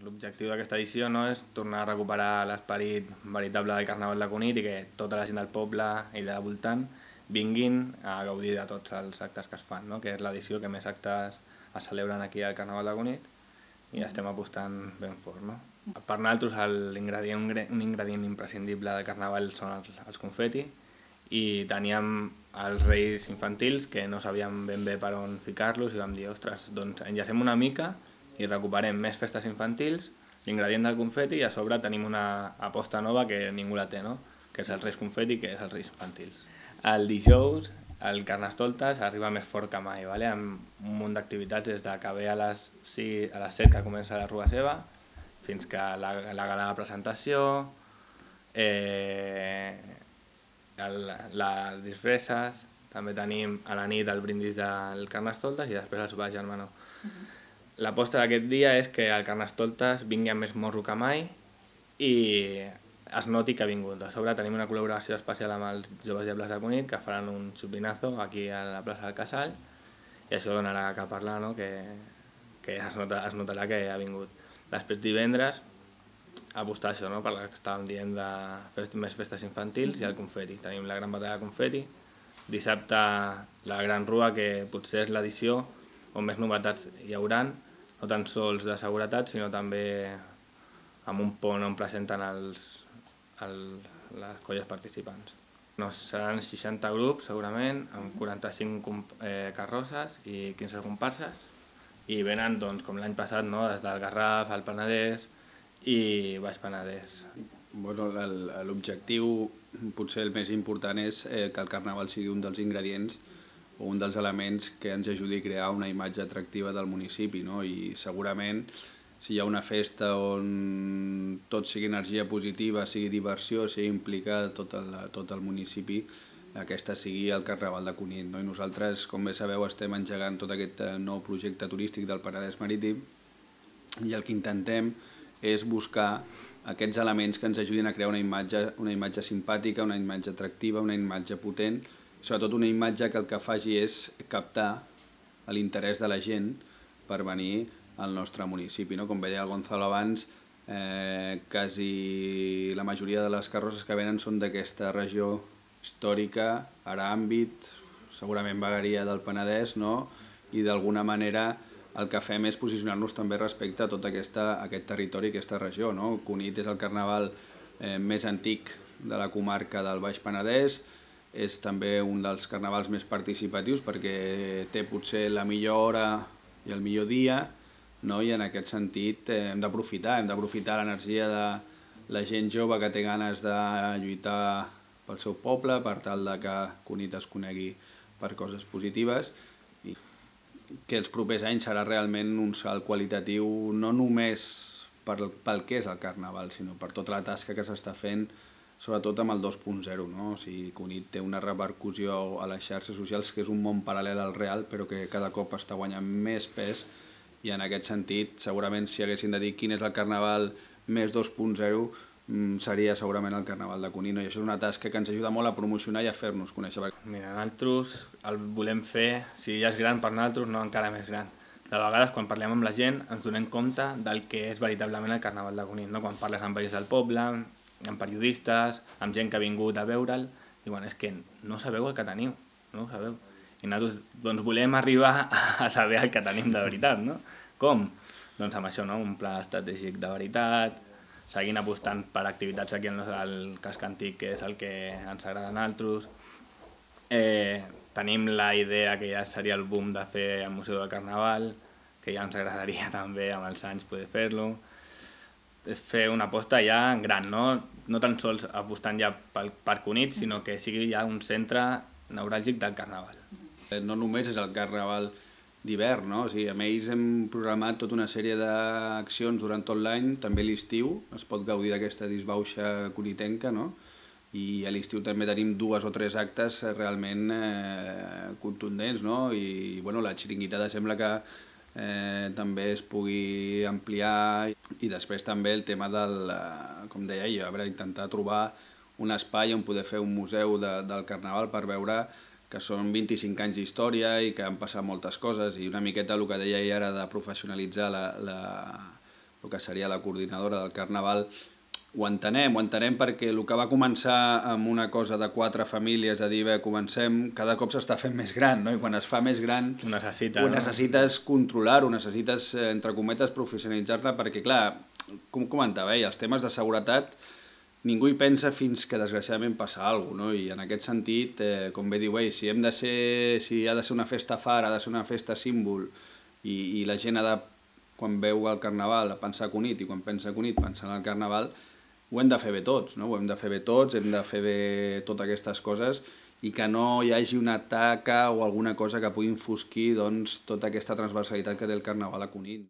L'objectiu d'aquesta edició és tornar a recuperar l'esperit veritable del Carnaval de Cunit i que tota la gent del poble i de voltant vinguin a gaudir de tots els actes que es fan, que és l'edició que més actes es celebren aquí al Carnaval de Cunit i estem apostant ben fort. Per nosaltres un ingredient imprescindible del Carnaval són els confeti i teníem els reis infantils que no sabíem ben bé per on ficar-los i vam dir, ostres, doncs enllacem una mica i recuperem més festes infantils, l'ingredient del confeti i a sobre tenim una aposta nova que ningú la té, que és el Reis Confeti, que és els Reis Infantils. El dijous el Carnestoltes arriba més fort que mai, amb un munt d'activitats des de que ve a les 7 que comença la Rua Seva fins que la gala de presentació, les disfresses, també tenim a la nit el brindis del Carnestoltes i després el sopar germanor. L'aposta d'aquest dia és que el Carnestoltes vingui amb més morro que mai i es noti que ha vingut. A sobre tenim una col·laboració especial amb els Joves Diables de Cunit que faran un xupinazo aquí a la plaça del Casal i això donarà que parlar, que es notarà que ha vingut. Després divendres apostar això, per la que estàvem dient de més festes infantils i el confeti. Tenim la gran batalla de confeti. Dissabte la Gran Rua, que potser és l'edició on més novetats hi hauran, no tan sols de seguretat, sinó també amb un pont on presenten les colles participants. Seran 60 grups, segurament, amb 45 carrosses i 15 comparses, i venen, com l'any passat, des del Garraf, el Penedès i Baix Penedès. L'objectiu, potser el més important, és que el Carnaval sigui un dels ingredients o un dels elements que ens ajudi a crear una imatge atractiva del municipi, i segurament si hi ha una festa on tot sigui energia positiva, sigui diversió, sigui implicar tot el municipi, aquesta sigui el Carnaval de Cunit. I nosaltres, com bé sabeu, estem engegant tot aquest nou projecte turístic del Penedès Marítim i el que intentem és buscar aquests elements que ens ajudin a crear una imatge simpàtica, una imatge atractiva, una imatge potent, sobretot una imatge que el que faci és captar l'interès de la gent per venir al nostre municipi. Com veia el Gonzalo abans, quasi la majoria de les carrosses que venen són d'aquesta regió històrica, ara àmbit, segurament vegueria del Penedès, i d'alguna manera el que fem és posicionar-nos també respecte a tot aquest territori, aquesta regió. Cunit és el carnaval més antic de la comarca del Baix Penedès, és també un dels carnavals més participatius perquè té potser la millor hora i el millor dia, i en aquest sentit hem d'aprofitar l'energia de la gent jove que té ganes de lluitar pel seu poble per tal que Cunit es conegui per coses positives, i que els propers anys serà realment un salt qualitatiu no només pel que és el carnaval, sinó per tota la tasca que s'està fent, sobretot amb el 2.0. Cunit té una repercussió a les xarxes socials que és un món paral·lel al real, però que cada cop està guanyant més pes, i en aquest sentit, segurament, si haguessin de dir quin és el carnaval més 2.0, seria segurament el Carnaval de Cunit. I això és una tasca que ens ajuda molt a promocionar i a fer-nos conèixer. Mira, nosaltres el volem fer, si ja és gran per nosaltres, encara més gran. De vegades, quan parlem amb la gent, ens donem compte del que és veritablement el Carnaval de Cunit. Quan parles amb veïns del poble, amb periodistes, amb gent que ha vingut a veure'l, diuen, és que no sabeu el que teniu, no ho sabeu. I nosaltres volem arribar a saber el que tenim de veritat, Com? Doncs amb això, un pla estratègic de veritat, seguint apostant per activitats aquí al casc antic, que és el que ens agrada a nosaltres. Tenim la idea que ja seria el boom de fer el Museu del Carnaval, que ja ens agradaria també amb els anys poder fer-lo. És fer una aposta ja gran, no tan sols apostant ja per Cunit, sinó que sigui ja un centre neuràlgic del Carnaval. No només és el Carnaval d'hivern, amb ells hem programat tota una sèrie d'accions durant tot l'any, també l'estiu es pot gaudir d'aquesta disbauxa cunitenca, i a l'estiu també tenim 2 o 3 actes realment contundents, i la xiringuitada sembla que també es pugui ampliar, i després també el tema del, com deia jo, intentar trobar un espai on poder fer un museu del Carnaval per veure que són 25 anys d'història i que han passat moltes coses, i una miqueta el que deia ell ara de professionalitzar el que seria la coordinadora del Carnaval, ho entenem perquè el que va començar amb una cosa de 4 famílies, a dir, bé, comencem, cada cop s'està fent més gran, no? I quan es fa més gran Ho necessites controlar-ho, necessites, entre cometes, professionalitzar-la, perquè, clar, com comentava, els temes de seguretat ningú hi pensa fins que desgraciadament passa alguna cosa, no? I en aquest sentit, com bé diu ell, si ha de ser una festa far, ha de ser una festa símbol, i la gent ha de, quan veu el Carnaval, pensar a Cunit, i quan pensa a Cunit, pensar en el Carnaval, ho hem de fer bé tots, no? Ho hem de fer bé tots, hem de fer bé totes aquestes coses i que no hi hagi una taca o alguna cosa que pugui enfosquir doncs, tota aquesta transversalitat que té el Carnaval a Cunit.